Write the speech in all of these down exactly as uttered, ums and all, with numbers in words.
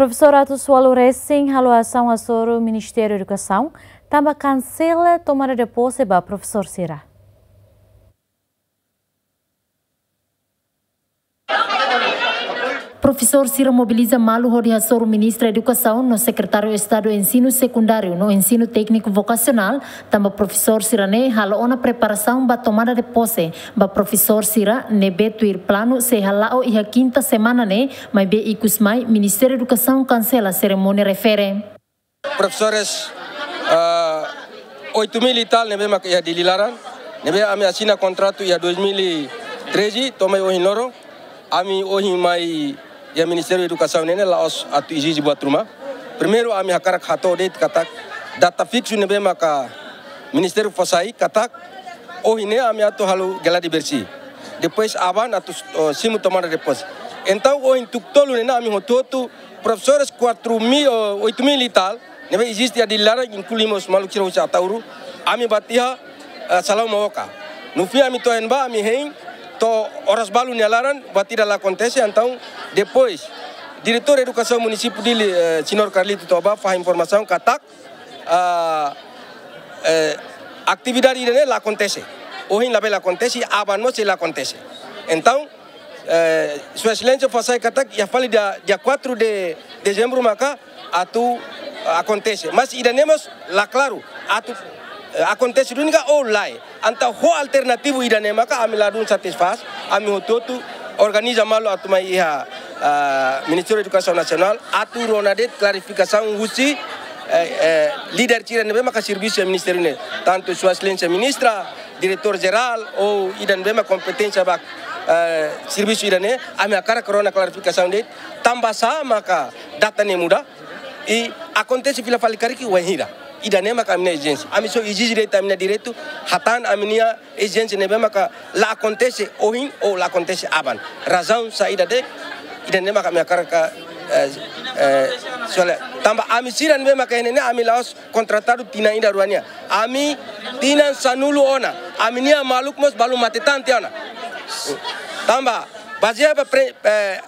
Profesór atus ualu resin halo asaun hasoru Ministériu Edukasaun, tanba kansela tomada de pose ba profesór sira. Profesór sira mobiliza malu hodi hasoru Ministra Edukasaun no Sekretáriu Estadu Ensinu Sekundáriu no Ensinu Tékniku Vokasionál, tanba profesór sira-ne'e halo ona preparasaun ba tomada de pose ba profesór sira ne'ebé tuir planu sei hala'o iha kinta semana ne'e, maibé ikus mai Ministériu Edukasaun kansela serimónia refere. Profesores, ah, oito mil e tal ne'ebé maka iha Dili laran, ne'ebé ami asina kontratu iha dois mil e treze, to'o mai ohin loron, ami ohin mai iha Ministériu Edukasaun ne'e la'ós atu ezije buat ruma. Primeiru ami hakarak hato'o de'it katak data fiksu ne'ebé maka Ministériu fó sai katak ohin ne'e ami atu halo gladi bersih. Depois aban atu, oh, simu tomada de pose. Entaun ohin tuku tolu ne'e ami hotu-hotu profesores quatro mil, oh, oito mil e tal, ne'ebé eziste iha Dili laran, inklui mós maluk sira husi Ataúru, ami bá tiha, eh, Salauma Oca. No fim ami to'o iha ne'ebá, ami hein, to'o oras balu nia laran, buat ida la akontese, entaun depois Diretór Edukasaun Munisípiu Dili, eh, Señór Carlito to'o bá fahe informasaun katak, ah, eh, atividade ida-ne'e la akontese. Ohin labele akontese, aban mós sei la akontese. Entaun, eh, Sua Exelénsia fó sai katak iha fali dia, dia quatro de dezembro maka atu, ah, akontese. Mas ida-ne'e mós la klaru atu, eh, akontese duni ka ou lae. Entaun ho alternativu ida-ne'e maka ami ladún satisfás, ami hotu-hotu organiza malu atu mai iha, ah, Ministériu Edukasaun Nasionál atu rona de'it klarifikasaun husi, eh, eh, líder sira ne'ebé maka servisu iha ministériu ne'e. Tantu Sua Exelénsia Ministra, Diretór Jerál, ou ida ne'ebé maka kompeténsia ba, eh, servisu ida-ne'e, ami hakarak rona klarifikasaun de'it, tanba sá maka data ne'e muda, i akontese fila fali karik wainhira. Ida-ne'e maka ami-nia ezijénsia. Ami só ezije de'it ami-nia direitu, hatán ami-nia ezijénsia ne'ebé maka la akontese ohin ou la akontese aban. Razaun saida de'it, ida-ne'e maka ami hakarak, eh, eh, soalnya tanba ami sira ne'ebé maka iha ne'e ne'e ami la'ós kontratadu tinan ida rua nian. Ami tinan sanulu ona. Ami-nia maluk mós balun mate-tante ona. Tanba bazeia ba pre-, eh,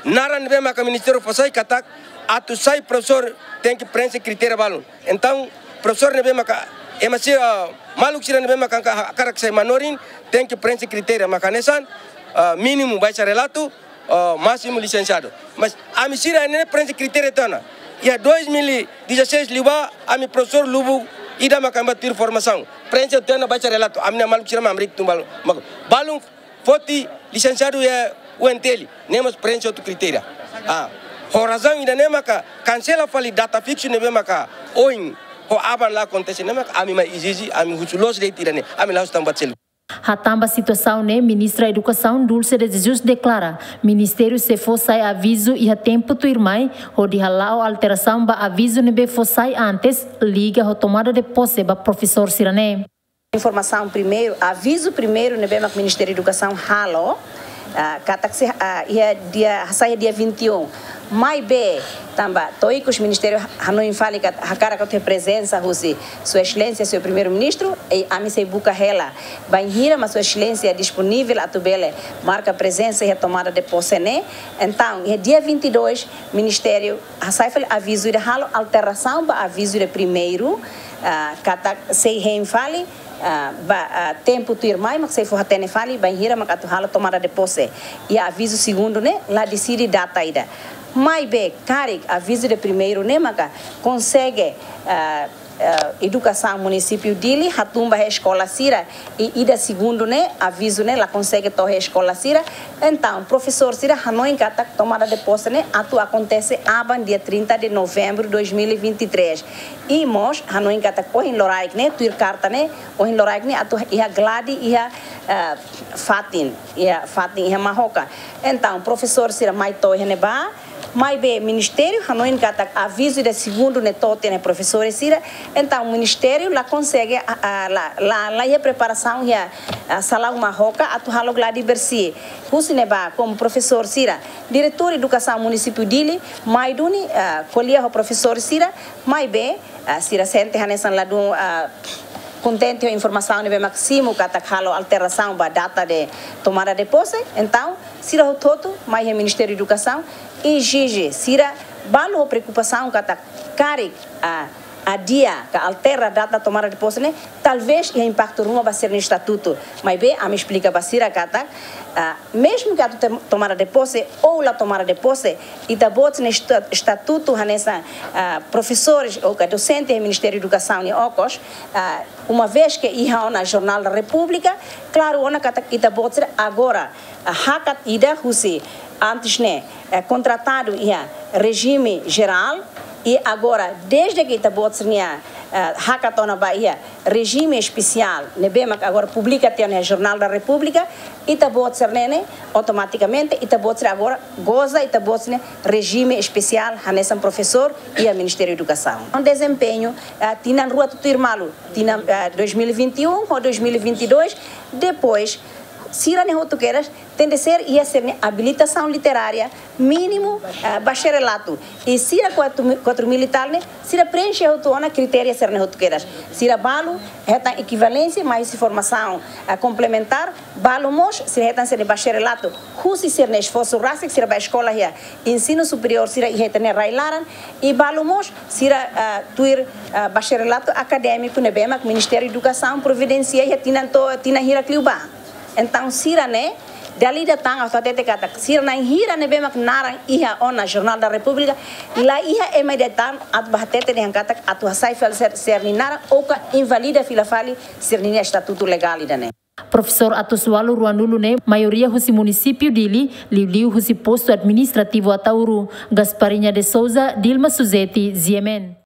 naran ne'ebé maka ministériu fó sai katak atu sai profesór tenke prenxe kritéria balun. Entaun, profesór ne'ebé maka, ema sira, ah, maluk sira ne'ebé maka hakarak sai manorin, tenke prenxe kritéria maka hanesan, ah, mínimu bacharelatu, ah, másimu lisensiadu. Mas ami sira ne'e prenxe kritéria tiha ona. Iha dois mil e dezasseis liubá, ami profesór lubuk ida maka ami bá tuir formasaun. Prenxe tiha ona bacharelatu, ami-nia maluk sira mak hamriik tun balun. Mak balun foti lisensiadu iha U N T L, ne'e mós prenxe hotu kritéria. Ah, ho razaun ida-ne'e maka kansela fali data fiksu ne'ebé maka ohin ho aban la akontese ne'e maka ami mai ezije, ami husu loos de'it ida-ne'e, ami la'ós tan buat seluk. Hatán ba situasaun ne'e, Ministra Edukasaun Dulce de Jesus deklara, Ministériu sei fó sai avizu iha tempu tuirmai, hodi hala'o alterasaun ba avizu ne'ebé fó sai antes, liga ho tomada de pose ba profesór sira-ne'e. Informasaun primeiru, avizu primeiru ne'ebé mak Ministériu Edukasaun halo, ah, katak sei, ah, iha dia, hasai iha dia vinte e um. Maibé, tanba to'o ikus Ministériu ha-, hanoin fali katak hakarak atu iha prezensa husi Sua Exelénsia, Señór Primeiru-Ministru, i ami sei buka hela bainhira mak Sua Exelénsia disponivel atu bele marka prezensa iha tomada de pose ne'e. Entaun, iha dia vinte e dois, Ministériu hasai fali avizu ida, halo alterasaun ba avizu ida primeiru, ah, katak sei hein fali, ah, ba, ah, tempu tuirmai mak sei fó hatene fali bainhira mak atu halo tomada de pose. I avizu segundu ne'e la deside data ida. Maibé, karik avizu ida primeiru ne'e maka konsege, ah, ah, edukasaun munisípiu Dili hatún ba iha eskola sira, i ida segundu ne'e, avizu ne'e la konsege to'o iha eskola sira. Entaun, profesór sira hanoin katak tomada de pose ne'e atu akontese aban dia trinta de novembro de dois mil e vinte e três. I mós hanoin katak ohin loraik ne'e, tuir karta ne'e, ohin loraik ne'e atu iha gladi iha, eh, fatin, iha fatin iha Mahoka. Entaun, profesór sira mai to'o iha ne'ebá, maibé ministériu hanoin katak avizu ida segundu ne'e to'o tiha ona iha profesór sira. Entaun, ministériu la konsege, ah, ah, la, la, la iha preparasaun iha, ah, Salauma Mahoka atu halo gladi bersih. Husi ne'ebá, komu profesór sira, diretór edukasaun munisípiu Dili mai duni, ah, ko'alia ho profesór sira, maibé, ah, sira sente hanesan ladún, ah, kontente ho informasaun ne'ebé mak simu katak halo alterasaun ba data de tomada de pose. Entaun, sira hotu-hotu mai iha Ministériu Edukasaun ezije sira Balu ho preokupasaun katak karik, ah, adia ka altera data tomada de posse ne'e, talvés iha impaktu ruma ba sira-nia estatutu. Maibé, ami esplika ba sira katak, ah, mezmu ke atu tem-, tomada de posse ou la tomada de posse, ita-boot nia esta-, estatutu hanesan, ah, profesores ou ka dosente iha Ministériu Edukasaun nia okos, ah, uma vez ke iha ona Jornál da Repúblika, klaru ona katak ita-boot sira agora, ah, hakat ida husi antes ne'e, eh, kontratadu iha rejime jerál, i agora, dezde ke ita-boot sira-nia, eh, hakat ona ba iha rejime espesiál, ne'ebé mak agora publika tiha ona iha Jornál da Repúblika, ita-boot sira-ne'e, automatikamente, ita-boot sira agora goza ita-boot sira-nia rejime espesiál, hanesan profesór iha Ministériu Edukasaun. Dezempeñu, eh, tinan rua tutuir malu, tinan, eh, dois mil e vinte e um ho dois mil e vinte e dois, depois, sira-ne'e hotu kedas, tenke ser iha sira-nia abilitasaun literária, mínimu, eh, bacharelatu. I sira quatro mi-, quatro mil e tal ne'e, sira preenxe hotu ona kritériu sira-ne'e hotu kedas. Sira balu, hetan ekivalénsia, mai husi formasaun, eh, komplementár, balu mós, sira hetan sira-nia bacharelatu, husi sira-nia esforsu rasik, sira bá eskola iha ensinu superiór, sira iha ita-nia rai-laran, i balu mós, sira, eh, tuir, eh, bacharelatu akadémiku, ne'ebé mak Ministériu Edukasaun providensia iha tinan to'o, tinan hirak liubá. Entaun, sira-ne'e, dala ida tan atu hatete katak, sira na'in hira ne'ebé mak naran iha ona Jornál da Repúblika, la iha ema ida tan atu bá hatete dehan katak atu hasai fali sira, sira-nia naran, ou ka invalida fila fali sira-nia estatutu legál ida-ne'e. Profesór atus ualu ruanulu ne'e, maioria husi munisípiu Dili, liuliu husi postu administrativu Ataúru. Gasparinha de Souza, Dilma Suzeti, G M N.